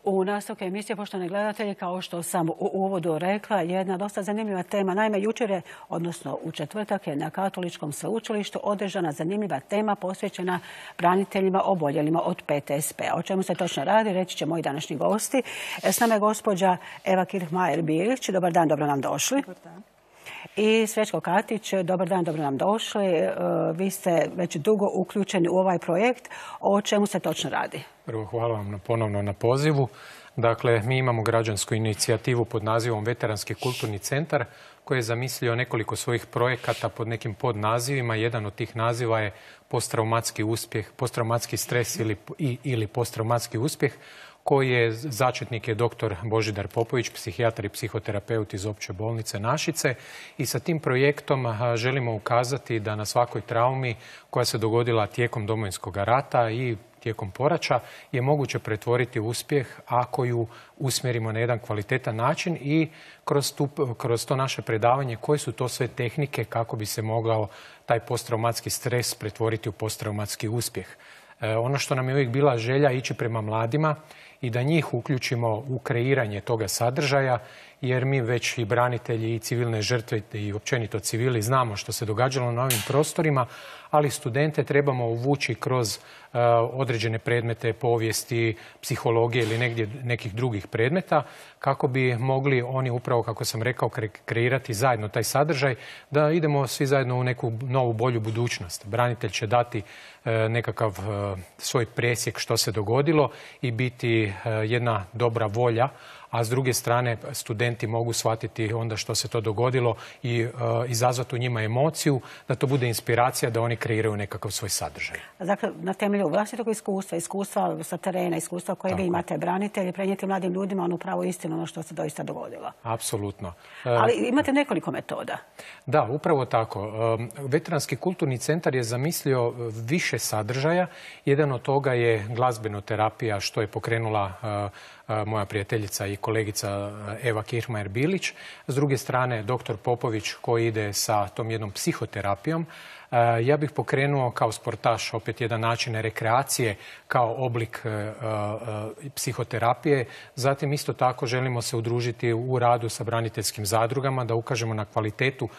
U nastavku emisije, poštovani gledatelji, kao što sam u uvodu rekla, jedna dosta zanimljiva tema. Naime, jučer je, odnosno u četvrtak je na Katoličkom sveučilištu održana zanimljiva tema posvećena braniteljima oboljelima od PTSP-a. O čemu se točno radi, reći će moji današnji gosti. S nama je gospođa Eva Kirchmajer-Bilić. Dobar dan, dobro nam došli. Dobar dan. I Srećko Katić, dobar dan, dobro nam došli. Vi ste već dugo uključeni u ovaj projekt. O čemu se točno radi? Prvo, hvala vam ponovno na pozivu. Dakle, mi imamo građansku inicijativu pod nazivom Veteranski kulturni centar koji je zamislio nekoliko svojih projekata pod nekim podnazivima. Jedan od tih naziva je posttraumatski uspjeh, posttraumatski stres ili posttraumatski uspjeh, koji je začetnik je dr. Božidar Popović, psihijatar i psihoterapeut iz Opće bolnice Našice. I sa tim projektom želimo ukazati da na svakoj traumi koja se dogodila tijekom Domovinskog rata i tijekom poraća je moguće pretvoriti uspjeh ako ju usmjerimo na jedan kvalitetan način i kroz to naše predavanje koje su to sve tehnike kako bi se mogao taj posttraumatski stres pretvoriti u posttraumatski uspjeh. Ono što nam je uvijek bila želja ići prema mladima i da njih uključimo u kreiranje toga sadržaja, jer mi već i branitelji i civilne žrtve i općenito civili znamo što se događalo na ovim prostorima, ali studente trebamo uvući kroz određene predmete povijesti, psihologije ili nekih drugih predmeta kako bi mogli oni upravo, kako sam rekao, kreirati zajedno taj sadržaj, da idemo svi zajedno u neku novu, bolju budućnost. Branitelj će dati nekakav svoj presjek što se dogodilo i biti jedna dobra volja, a s druge strane studenti mogu shvatiti onda što se to dogodilo i izazvati u njima emociju, da to bude inspiracija da oni kreiraju nekakav svoj sadržaj. Dakle, na temelju vlastitog iskustva sa terena, iskustva koje vi imate branitelji, prenijeti mladim ljudima onu pravu istinu, ono što se doista dogodilo. Apsolutno. Ali imate nekoliko metoda. Da, upravo tako. Veteranski kulturni centar je zamislio više sadržaja. Jedan od toga je glazbenoterapija što je pokrenula moja prijateljica i kolegica Eva Kirchmajer-Bilić. S druge strane, dr. Popović koji ide sa tom jednom psihoterapijom. Ja bih pokrenuo kao sportaš opet jedan način rekreacije kao oblik psihoterapije. Zatim isto tako želimo se udružiti u radu sa braniteljskim zadrugama, da ukažemo na kvalitetu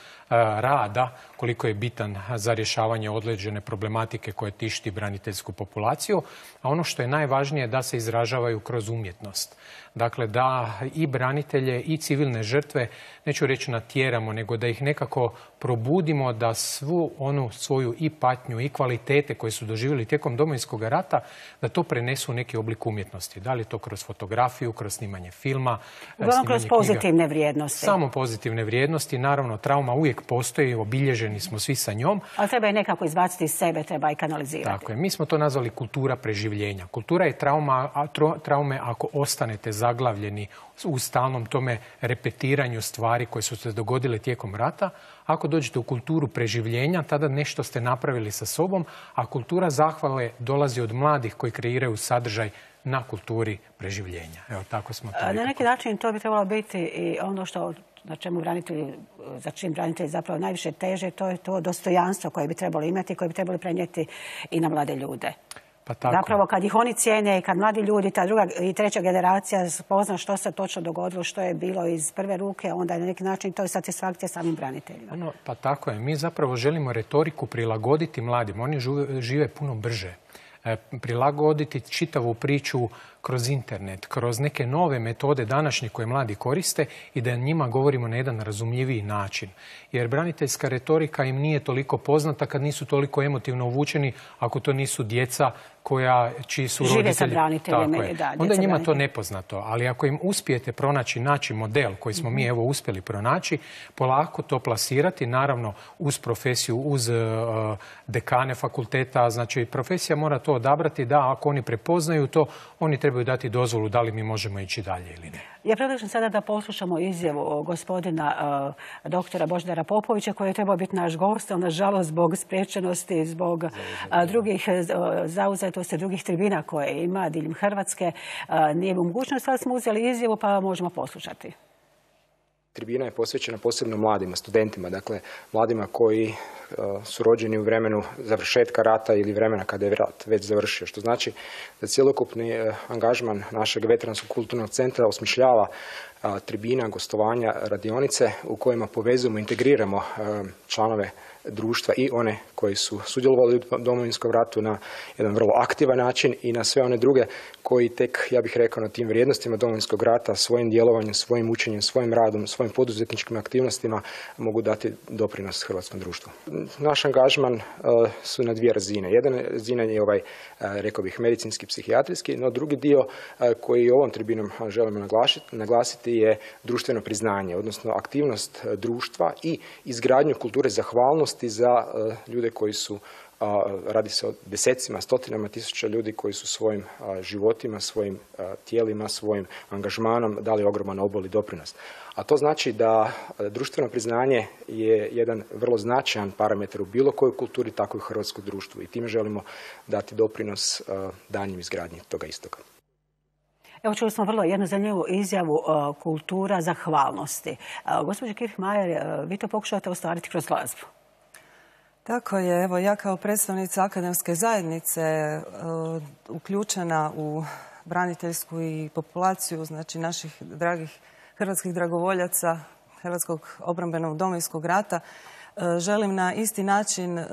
rada, koliko je bitan za rješavanje određene problematike koje tišti braniteljsku populaciju. A ono što je najvažnije da se izražavaju kroz umjetnost. Dakle, da i branitelje i civilne žrtve, neću reći natjeramo, nego da ih nekako probudimo da svu onu svoju i patnju i kvalitete koje su doživjeli tijekom Domovinskog rata, da to prenesu u neki oblik umjetnosti. Da li to kroz fotografiju, kroz snimanje filma, uglavnom kroz pozitivne vrijednosti. Samo pozitivne vrijednosti. Naravno, trauma uvijek postoji, obilježeni smo svi sa njom. Ali treba je nekako izbaciti iz sebe, treba i kanalizirati. Tako je. Mi smo to nazvali kultura preživljenja. Kultura je traume ako ostanete zaglavljeni u stalnom tome repetiranju stvari koje su se dogodile tijekom rata. Ako dođete u kulturu preživljenja, tada nešto ste napravili sa sobom, a kultura zahvale dolazi od mladih koji kreiraju sadržaj na kulturi preživljenja. Evo, tako smo to na neki način to bi trebalo biti i ono što za čim branitelji zapravo najviše teže, to je to dostojanstvo koje bi trebalo imati, koje bi trebali prenijeti i na mlade ljude. Pa tako. Zapravo kad ih oni cijene i kad mladi ljudi, ta druga i treća generacija spozna što se točno dogodilo, što je bilo iz prve ruke, onda je na neki način to je satisfakcija samim braniteljima. Pa tako je. Mi zapravo želimo retoriku prilagoditi mladima. Oni žive puno brže. Prilagoditi čitavu priču kroz internet, kroz neke nove metode današnje koje mladi koriste i da njima govorimo na jedan razumljiviji način. Jer braniteljska retorika im nije toliko poznata kad nisu toliko emotivno uvučeni, ako to nisu djeca čiji su roditelji. Žive sa braniteljima. Onda je njima to nepoznato. Ali ako im uspijete naći model koji smo mi uspjeli pronaći, polako to plasirati, naravno uz profesiju, uz dekane fakulteta, znači profesija mora to odabrati da ako oni prepoznaju to, oni trebaju dati dozvolu da li mi možemo ići dalje ili ne. Ja predlažem sada da poslušamo izjavu gospodina doktora Božidara Popovića koji je trebao biti naš gost, ali nažalost zbog spriječenosti, zbog drugih zauzetosti, drugih tribina koje ima diljem Hrvatske nije u mogućnosti, ali smo uzeli izjavu pa možemo poslušati. tribina je posvećena posebno mladima, studentima, dakle mladima koji su rođeni u vremenu završetka rata ili vremena kada je rat već završio, što znači da cjelokupni angažman našeg veteranskog kulturnog centra osmišljava tribina, gostovanja, radionice u kojima povezujemo, integriramo članove društva i one koji su sudjelovali u Domovinskom ratu na jedan vrlo aktivan način i na sve one druge koji tek, ja bih rekao, na tim vrijednostima Domovinskog rata, svojim djelovanjem, svojim učenjem, svojim radom, svojim poduzetničkim aktivnostima mogu dati doprinos hrvatskom društvu. Naš angažman su na dvije razine. Jedna razina je rekao bih, medicinski, psihijatrijski, no drugi dio koji ovom tribinom želimo naglasiti je društveno priznanje, odnosno aktivnost društva i izgradnju kulture zahvalnosti za ljude koji su, radi se o desecima, stotinama tisuća ljudi koji su svojim životima, svojim tijelima, svojim angažmanom dali ogroman obol i doprinos. A to znači da društveno priznanje je jedan vrlo značajan parametar u bilo kojoj kulturi, tako i u hrvatskom društvu. I time želimo dati doprinos daljnjim izgradnji toga istoga. Evo, čuli smo vrlo jednu zanimljivu izjavu kultura zahvalnosti. Gospođo Kirchmajer, vi to pokušavate ostvariti kroz glazbu. Tako je. Evo, ja kao predstavnica akademske zajednice uključena u braniteljsku i populaciju, znači naših dragih hrvatskih dragovoljaca Hrvatskog obrambenog Domovinskog rata, želim na isti način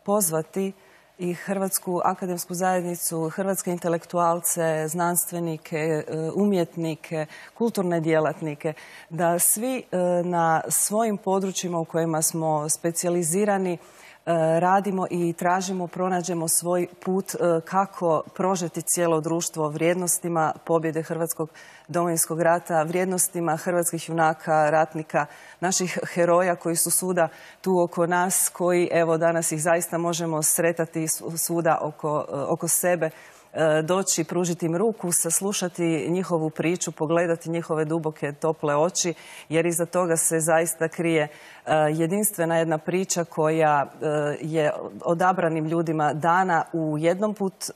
pozvati i Hrvatsku akademsku zajednicu, hrvatske intelektualce, znanstvenike, umjetnike, kulturne djelatnike, da svi na svojim područjima u kojima smo specijalizirani radimo i tražimo, pronađemo svoj put kako prožeti cijelo društvo vrijednostima pobjede Hrvatskog Domovinskog rata, vrijednostima hrvatskih junaka, ratnika, naših heroja koji su svuda tu oko nas, koji evo danas ih zaista možemo sretati svuda oko sebe, doći, pružiti im ruku, saslušati njihovu priču, pogledati njihove duboke, tople oči, jer iza toga se zaista krije jedinstvena jedna priča koja je odabranim ljudima dana u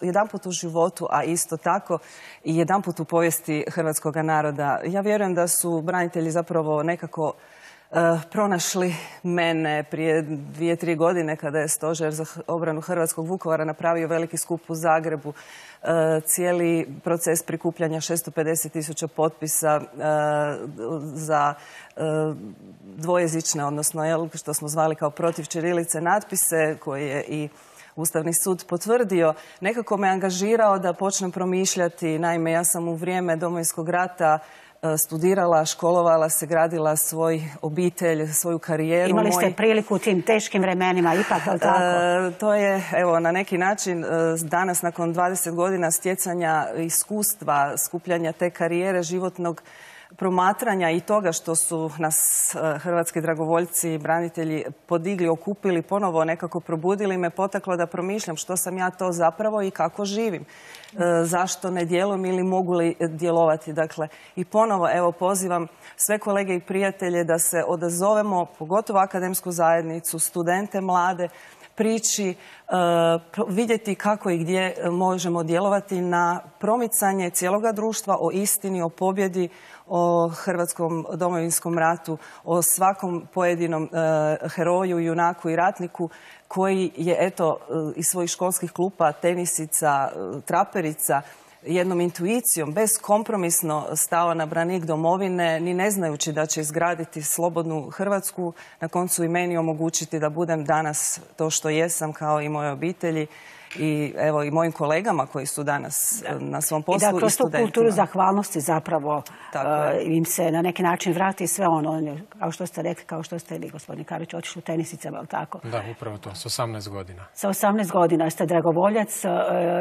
jedanput u životu, a isto tako i jedanput u povijesti hrvatskog naroda. Ja vjerujem da su branitelji zapravo nekako pronašli mene prije 2-3 godine kada je Stožer za obranu hrvatskog Vukovara napravio veliki skup u Zagrebu. Cijeli proces prikupljanja 650.000 potpisa za dvojezične, odnosno što smo zvali kao protiv ćirilice natpise, koje je i Ustavni sud potvrdio, nekako me angažirao da počnem promišljati. Naime, ja sam u vrijeme Domovinskog rata studirala, školovala se, gradila svoj obitelj, svoju karijeru. Imali ste priliku u tim teškim vremenima, ipak, ali tako? To je, evo, na neki način danas, nakon 20 godina stjecanja iskustva, skupljanja te karijere, životnog promatranja i toga što su nas hrvatski dragovoljci i branitelji podigli, okupili, ponovo nekako probudili, me potaklo da promišljam što sam ja to zapravo i kako živim. Zašto ne djelujem ili mogu li djelovati. Dakle, i ponovo evo pozivam sve kolege i prijatelje da se odazovemo, pogotovo akademsku zajednicu, studente, mlade, priči, vidjeti kako i gdje možemo djelovati na promicanje cijeloga društva o istini, o pobjedi, o Hrvatskom Domovinskom ratu, o svakom pojedinom heroju, junaku i ratniku koji je, eto, iz svojih školskih klupa, tenisica, traperica, jednom intuicijom, beskompromisno stao na branik domovine, ni ne znajući da će izgraditi slobodnu Hrvatsku, na koncu i meni omogućiti da budem danas to što jesam, kao i moje obitelji i evo i mojim kolegama koji su danas na svom poslu i studentima. I da kroz tu kulturu zahvalnosti zapravo im se na neki način vrati sve ono, kao što ste rekli, kao što ste vi, gospodin Karić, otišli u tenisicama, ali tako? Da, upravo to, s 18 godina. Sa 18 godina ste dragovoljac,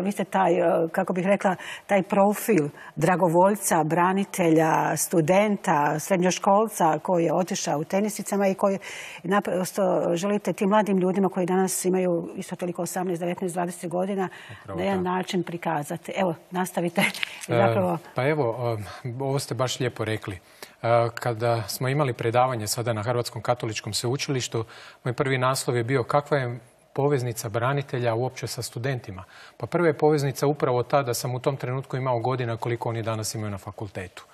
vi ste taj, kako bih rekla, taj profil dragovoljca, branitelja, studenta, srednjoškolca koji je otišao u tenisicama i koji naprosto želite tim mladim ljudima koji danas imaju isto toliko 18, 19, 20 godina na jedan način prikazati. Evo, nastavite. Pa evo, ovo ste baš lijepo rekli. Kada smo imali predavanje sada na Hrvatskom katoličkom sveučilištu, moj prvi naslov je bio kakva je poveznica branitelja uopće sa studentima? Pa prva je poveznica upravo ta da sam u tom trenutku imao godina koliko oni danas imaju na fakultetu.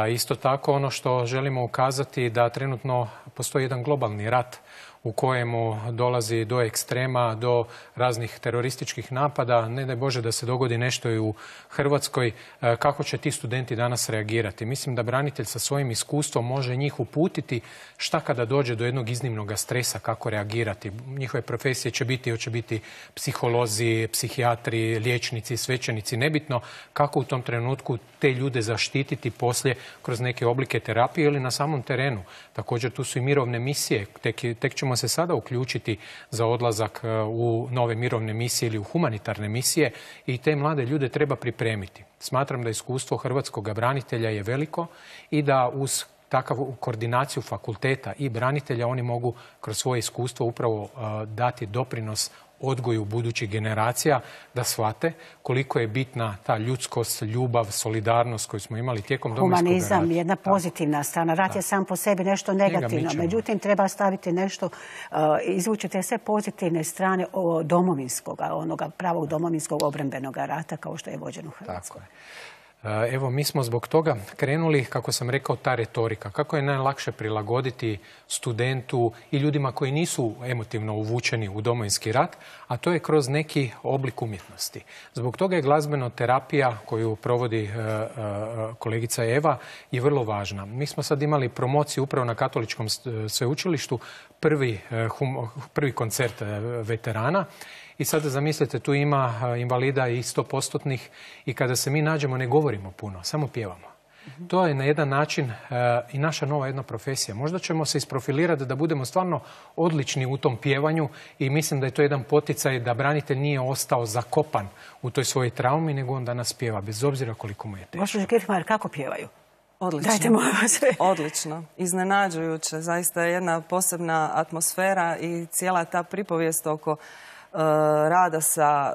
Isto tako ono što želimo ukazati da trenutno postoji jedan globalni rat u kojemu dolazi do ekstrema, do raznih terorističkih napada. Ne daj Bože da se dogodi nešto i u Hrvatskoj. Kako će ti studenti danas reagirati? Mislim da branitelj sa svojim iskustvom može njih uputiti šta kada dođe do jednog iznimnog stresa, kako reagirati. Njihove profesije će biti psiholozi, psihijatri, liječnici, svećenici. Nebitno kako u tom trenutku te ljude zaštititi poslije kroz neke oblike terapije ili na samom terenu. Također tu su i mirovne misije. Tek ćemo se sada uključiti za odlazak u nove mirovne misije ili u humanitarne misije i te mlade ljude treba pripremiti. Smatram da iskustvo hrvatskog branitelja je veliko i da uz takvu koordinaciju fakulteta i branitelja oni mogu kroz svoje iskustvo upravo dati doprinos odgoju budućih generacija da shvate koliko je bitna ta ljudskost, ljubav, solidarnost koju smo imali tijekom Domovinskog rata. Humanizam, jedna pozitivna strana. Rat je sam po sebi nešto negativno. Međutim, treba staviti nešto, izvući te sve pozitivne strane domovinskog, onoga pravog domovinskog obrambenog rata kao što je vođen u Hrvatskoj. Evo, mi smo zbog toga krenuli, kako sam rekao, ta retorika. Kako je najlakše prilagoditi studentu i ljudima koji nisu emotivno uvučeni u Domovinski rat, a to je kroz neki oblik umjetnosti. Zbog toga je glazbena terapija koju provodi kolegica Eva je vrlo važna. Mi smo sad imali promociju upravo na Katoličkom sveučilištu, prvi koncert veterana. I sada zamislite, tu ima invalida i 100%-nih i kada se mi nađemo ne govorimo puno, samo pjevamo. To je na jedan način i naša nova jedna profesija. Možda ćemo se isprofilirati da budemo stvarno odlični u tom pjevanju i mislim da je to jedan poticaj da branitelj nije ostao zakopan u toj svojoj traumi, nego on danas pjeva, bez obzira koliko mu je teško. Gospođo Kirchmeier, kako pjevaju? Odlično. Odlično. Iznenađujuće. Zaista je jedna posebna atmosfera i cijela ta pripovijest oko rada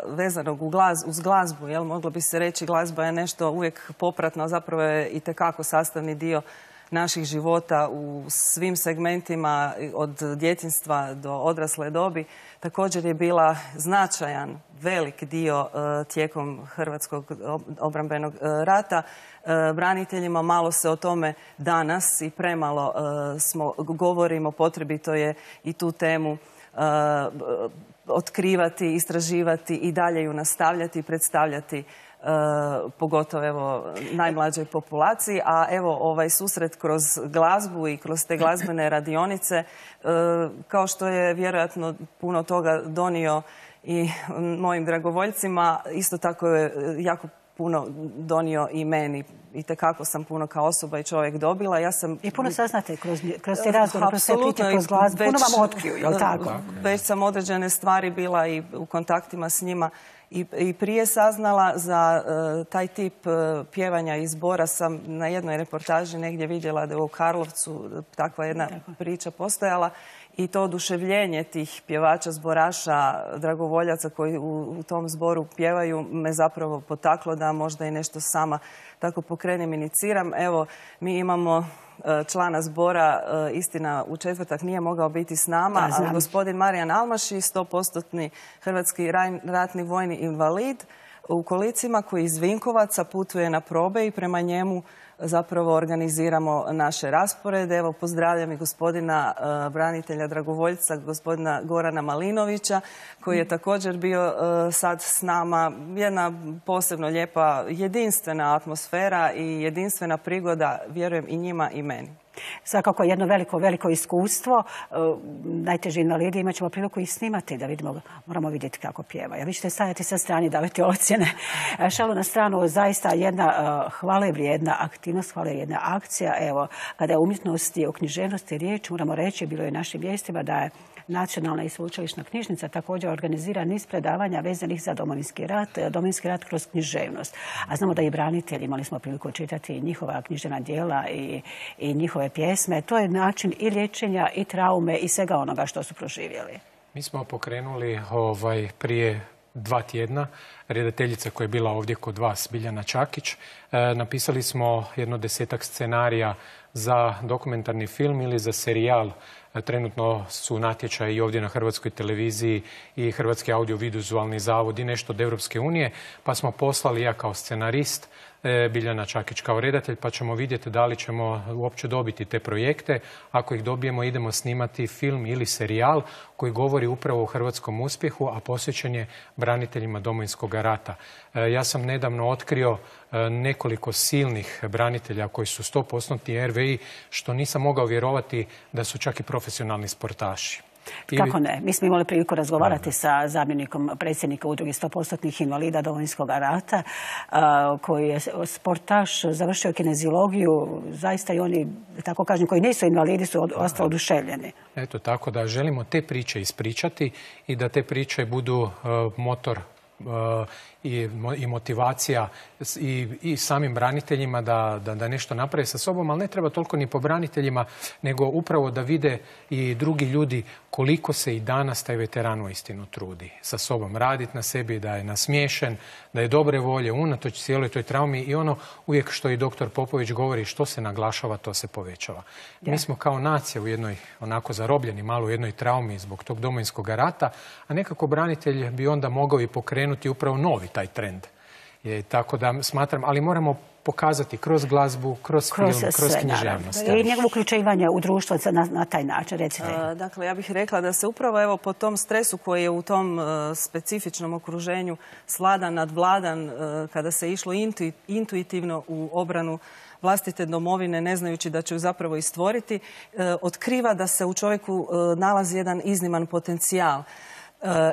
vezanog uz glazbu. Moglo bi se reći glazba je nešto uvijek popratno, zapravo je itekako sastavni dio naših života u svim segmentima od djetinjstva do odrasle dobi. Također je bila značajan, velik dio tijekom Hrvatskog obrambenog rata. Braniteljima malo se o tome danas i premalo govorimo, potrebito je i tu temu otkrivati, istraživati i dalje ju nastavljati i predstavljati pogotovo najmlađoj populaciji. A evo ovaj susret kroz glazbu i kroz te glazbene radionice, kao što je vjerojatno puno toga donio i mojim dragovoljcima, isto tako je jako puno donio i meni. Itekako sam puno kao osoba i čovjek dobila. I puno saznate kroz te razgovore, kroz te priče, kroz glazbu. Puno vam otkriju, je li tako? Već sam određene stvari bila i u kontaktima s njima i prije saznala. Za taj tip pjevanja i zbora sam na jednoj reportaži negdje vidjela da je u Karlovcu takva jedna priča postojala. I to oduševljenje tih pjevača, zboraša, dragovoljaca koji u tom zboru pjevaju me zapravo potaklo da možda i nešto sama tako pokrenem, iniciram. Evo, mi imamo člana zbora, istina u četvrtak nije mogao biti s nama, ali gospodin Marijan Almaši, 100%-ni hrvatski ratni vojni invalid u kolicima koji iz Vinkovaca putuje na probe i prema njemu zapravo organiziramo naše rasporede. Evo, pozdravljam i gospodina branitelja dragovoljca, gospodina Gorana Malinovića, koji je također bio sad s nama. Jedna posebno lijepa, jedinstvena atmosfera i jedinstvena prigoda, vjerujem i njima i meni. Svakako jedno veliko iskustvo. Najteži invalidi imat ćemo priliku i snimati da vidimo, moramo vidjeti kako pjeva. Vi ćete stajati sa strane, davati ocjene. Šalu na stranu, zaista jedna hvalevrijedna aktivnost, hvalevrijedna akcija. Evo, kada je umjetnosti o književnosti riječ, moramo reći, bilo je u našim vijestima da je Nacionalna i sveučilišna knjižnica također organizira niz predavanja vezanih za Domovinski rat kroz književnost. A znamo da i branitelji, imali smo priliku čitati njihova književna djela i njihove pjesme. To je način i liječenja i traume i svega onoga što su proživjeli. Mi smo pokrenuli prije 2 tjedna redateljica koja je bila ovdje kod vas, Biljana Čakić. Napisali smo jedno 10-ak scenarija za dokumentarni film ili za serijal. Trenutno su natječaji ovdje na Hrvatskoj televiziji i Hrvatski audiovizualni zavod i nešto od Europske unije, pa smo poslali ja kao scenarist, Biljana Čakić kao redatelj, pa ćemo vidjeti da li ćemo uopće dobiti te projekte. Ako ih dobijemo, idemo snimati film ili serijal koji govori upravo o hrvatskom uspjehu, a posvećen je braniteljima Domovinskog rata. Ja sam nedavno otkrio nekoliko silnih branitelja koji su 100% RVI, što nisam mogao vjerovati da su čak i profesionalni sportaši. Kako ne? Mi smo imali priliku razgovarati sa zamjenikom predsjednika udruge 100% invalida Domovinskog rata, koji je sportaš, završio kineziologiju. Zaista i oni, tako kažem, koji nisu invalidi su ostali oduševljeni. Eto, tako da želimo te priče ispričati i da te priče budu motor i motivacija i samim braniteljima da nešto naprave sa sobom, ali ne treba toliko ni po braniteljima, nego upravo da vide i drugi ljudi koliko se i danas taj veteran uistinu trudi sa sobom raditi na sebi, da je nasmiješen, da je dobre volje unatoč cijeloj toj traumi i ono uvijek što i doktor Popović govori, što se naglašava, to se povećava. Mi smo kao nacija u jednoj, onako zarobljeni malo u jednoj traumi zbog tog Domovinskog rata, a nekako branitelj bi onda mogao i pokrenuti upravo novi taj trend. Tako da smatram, ali moramo pokazati kroz glazbu, kroz film, kroz književnost. I njegovo uključivanje u društvo na taj način, recite. Dakle, ja bih rekla da se upravo evo po tom stresu koji je u tom specifičnom okruženju sladan, nadvladan, kada se išlo intuitivno u obranu vlastite domovine, ne znajući da će ju zapravo i stvoriti, otkriva da se u čovjeku nalazi jedan izniman potencijal.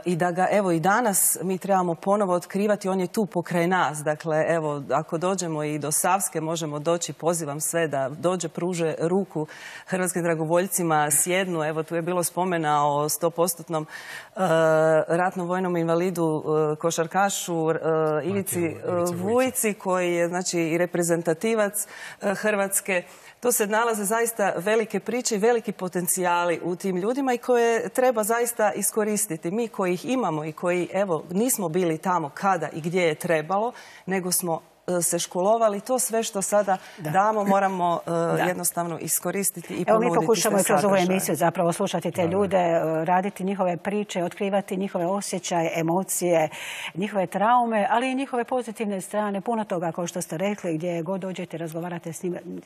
I da ga evo i danas mi trebamo ponovo otkrivati, on je tu pokraj nas. Dakle, evo, ako dođemo i do Savske, možemo doći, pozivam sve da dođe, pruže ruku hrvatskim dragovoljcima, sjednu. Evo, tu je bilo spomena o 100% ratnom vojnom invalidu, košarkašu Ivici Vujici, koji je znači i reprezentativac Hrvatske. To se nalaze zaista velike priče i veliki potencijali u tim ljudima i koje treba zaista iskoristiti. Mi koji ih imamo i koji, evo, nismo bili tamo kada i gdje je trebalo, nego smo se školovali, to sve što sada damo moramo jednostavno iskoristiti i ponuditi sve sadržaje. Evo mi pokušamo i kroz ovu emisiju zapravo slušati te ljude, raditi njihove priče, otkrivati njihove osjećaje, emocije, njihove traume, ali i njihove pozitivne strane. Puno toga, kao što ste rekli, gdje god dođete, razgovarate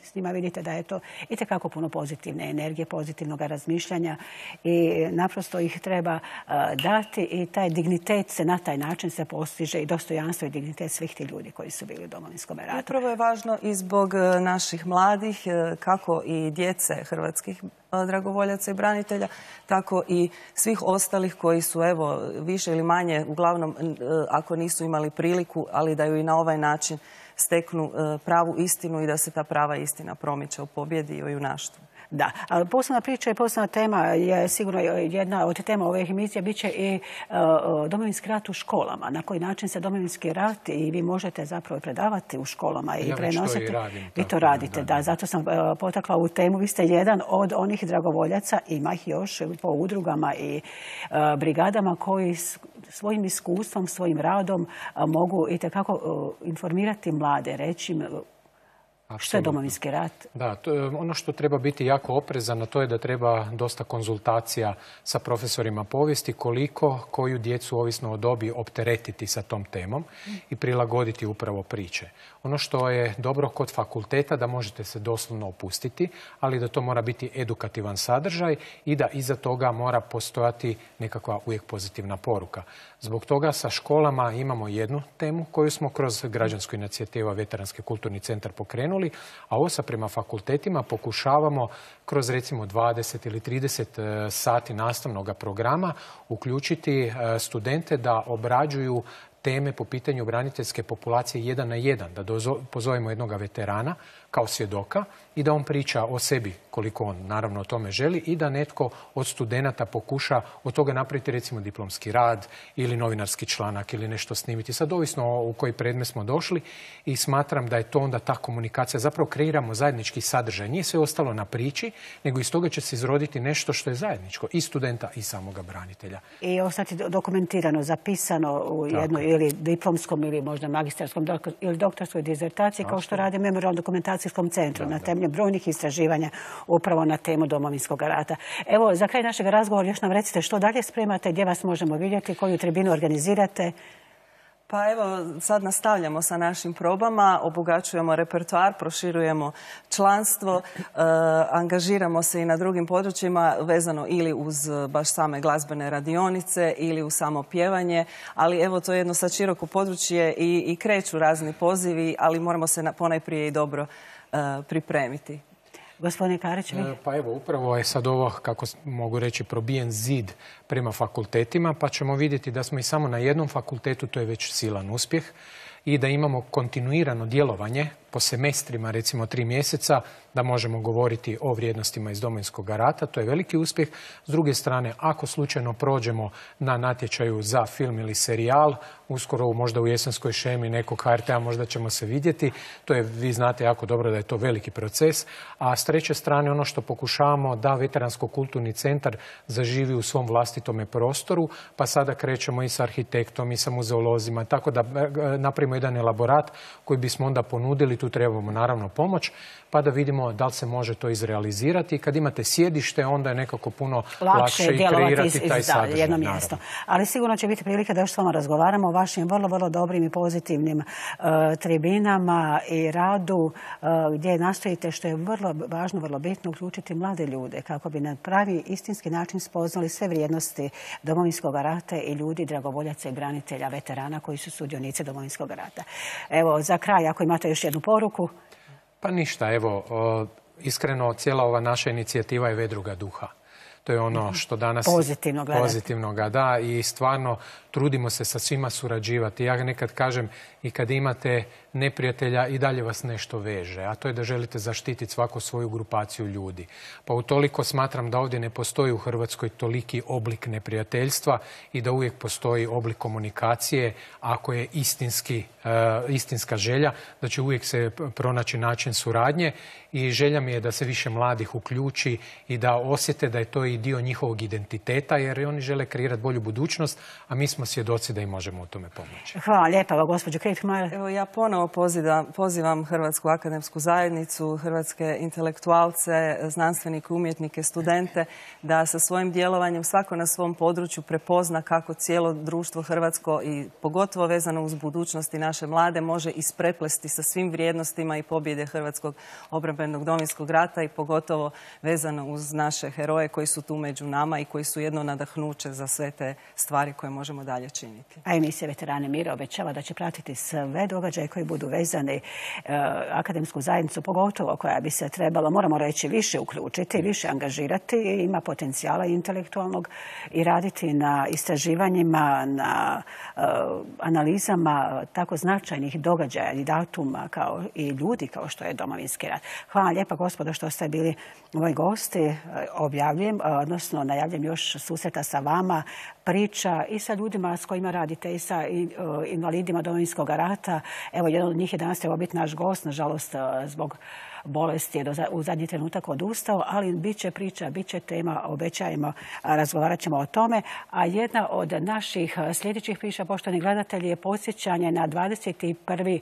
s njima, vidite da je to itekako puno pozitivne energije, pozitivnog razmišljanja i naprosto ih treba dati i taj dignitet se na taj način se postiže i dostojanstvo i dignitet svih tih ljudi koji su bili u Domovinskom ratu. Upravo je važno i zbog naših mladih, kako i djece hrvatskih dragovoljaca i branitelja, tako i svih ostalih koji su, evo, više ili manje, uglavnom, ako nisu imali priliku, ali da ju i na ovaj način steknu pravu istinu i da se ta prava istina promiče u pobjedi i u junaštvu. Da, ali posebna priča i posebna tema je sigurno jedna od tema ove emisije bit će i Domovinski rat u školama. Na koji način se Domovinski rat i vi možete zapravo predavati u školama i prenositi. Vi to radite, da. Zato sam potakla ovu temu. Vi ste jedan od onih dragovoljaca, ima ih još po udrugama i brigadama koji svojim iskustvom, svojim radom mogu itekako informirati mlade, reći im što je Domovinski rat? Da, ono što treba biti jako oprezan, to je da treba dosta konzultacija sa profesorima povijesti, koju djecu, ovisno o dobi, opteretiti sa tom temom i prilagoditi upravo priče. Ono što je dobro kod fakulteta, da možete se doslovno opustiti, ali da to mora biti edukativan sadržaj i da iza toga mora postojati nekakva uvijek pozitivna poruka. Zbog toga sa školama imamo jednu temu koju smo kroz građansku inicijativu Veteranski kulturni centar pokrenuli, a ovo sa prema fakultetima pokušavamo kroz recimo 20 ili 30 sati nastavnog programa uključiti studente da obrađuju teme po pitanju braniteljske populacije 1 na 1, da pozovemo jednog veterana kao svjedoka i da on priča o sebi koliko on naravno o tome želi i da netko od studenata pokuša od toga napraviti recimo diplomski rad ili novinarski članak ili nešto snimiti. Sad ovisno u koji predmet smo došli i smatram da je to onda ta komunikacija. Zapravo kreiramo zajednički sadržaj. Nije sve ostalo na priči, nego iz toga će se izroditi nešto što je zajedničko i studenta i samoga branitelja. I ostati dokumentirano, zapisano u jednoj ili diplomskom ili možda magistarskom ili doktorskoj dizertaciji kao što radi Memorijalno-dokumentacijskom centru na temelju brojnih istraživanja upravo na temu Domovinskog rata. Evo, za kraj našeg razgovora još nam recite što dalje spremate, gdje vas možemo vidjeti, koju tribinu organizirate. Pa evo, sad nastavljamo sa našim probama, obogaćujemo repertoar, proširujemo članstvo, angažiramo se i na drugim područjima vezano ili uz baš same glazbene radionice ili uz samo pjevanje, ali evo to je jedno sad široko područje i kreću razni pozivi, ali moramo se ponajprije i dobro pripremiti. Gospodine Karić, vi? Pa evo, upravo je sad ovo, kako mogu reći, probijen zid prema fakultetima, pa ćemo vidjeti da smo i samo na jednom fakultetu, to je već silan uspjeh, i da imamo kontinuirano djelovanje po semestrima, recimo 3 mjeseca, da možemo govoriti o vrijednostima iz Domovinskog rata. To je veliki uspjeh. S druge strane, ako slučajno prođemo na natječaju za film ili serijal, uskoro možda u jesenskoj šemi nekog HRT-a možda ćemo se vidjeti. To je, vi znate jako dobro da je to veliki proces. A s treće strane, ono što pokušavamo da Veteransko-kulturni centar zaživi u svom vlastitome prostoru, pa sada krećemo i sa arhitektom i sa muzeolozima, tako da napravimo jedan elaborat koji bismo onda ponudili. Tu trebamo naravno pomoć, pa da vidimo da li se može to izrealizirati. Kad imate sjedište, onda je nekako puno lakše i kreirati taj sadržaj. Jedno mjesto. Ali sigurno će biti prilike da još s vama razgovaramo o vašim vrlo, vrlo dobrim i pozitivnim tribinama i radu gdje nastojite, što je vrlo važno, vrlo bitno, uključiti mlade ljude kako bi na pravi istinski način spoznali sve vrijednosti Domovinskog rata i ljudi, dragovoljaca i branitelja, veterana koji su sudionici Domovinskog rata. Evo, za kraj, ako imate još jednu poruku. Pa ništa, evo, iskreno, cijela ova naša inicijativa je vedruga duha. To je ono što danas pozitivno ga da i stvarno trudimo se sa svima surađivati. Ja nekad kažem i kad imate neprijatelja i dalje vas nešto veže, a to je da želite zaštititi svaku svoju grupaciju ljudi. Pa utoliko smatram da ovdje ne postoji u Hrvatskoj toliki oblik neprijateljstva i da uvijek postoji oblik komunikacije, ako je istinska želja, da će uvijek se pronaći način suradnje i želja mi je da se više mladih uključi i da osjete da je to i dio njihovog identiteta, jer oni žele kreirati bolju budućnost, a mi smo svjedoci da im možemo u tome pomoći. Hvala lijepa, gospođo Krihtmajer. Evo, ja ponovo pozivam Hrvatsku akademsku zajednicu, hrvatske intelektualce, znanstvenike, umjetnike, studente, da sa svojim djelovanjem svako na svom području prepozna kako cijelo društvo hrvatsko i pogotovo vezano uz budućnost i naše mlade može ispreplesti sa svim vrijednostima i pobjede Hrvatskog obrambenog Domovinskog rata i pogotovo vezano uz naše heroje koji su tu među nama i koji su jedno nadahnuće za sve te stvari koje možemo dalje činiti. A emisija Veterani mira obećava da će pratiti sve događaje koji budu vezani akademsku zajednicu, pogotovo koja bi se trebala, moramo reći, više uključiti, više angažirati, ima potencijala intelektualnog i raditi na istraživanjima, na analizama tako značajnih događaja i datuma kao i ljudi kao što je Domovinski rat. Hvala lijepa, gospodo, što ste bili moji gosti. Objavljujem, odnosno najavljujem još susreta sa vama, priča i sa ljudima s kojima radite i sa invalidima Domovinskog rata. Evo, jedan od njih je danas trebao biti naš gost, nažalost zbog bolesti je u zadnji trenutak odustao, ali bit će priča, bit će tema, obećajemo, razgovarat ćemo o tome. A jedna od naših sljedećih priča, poštovani gledatelji, je podsjećanje na 21.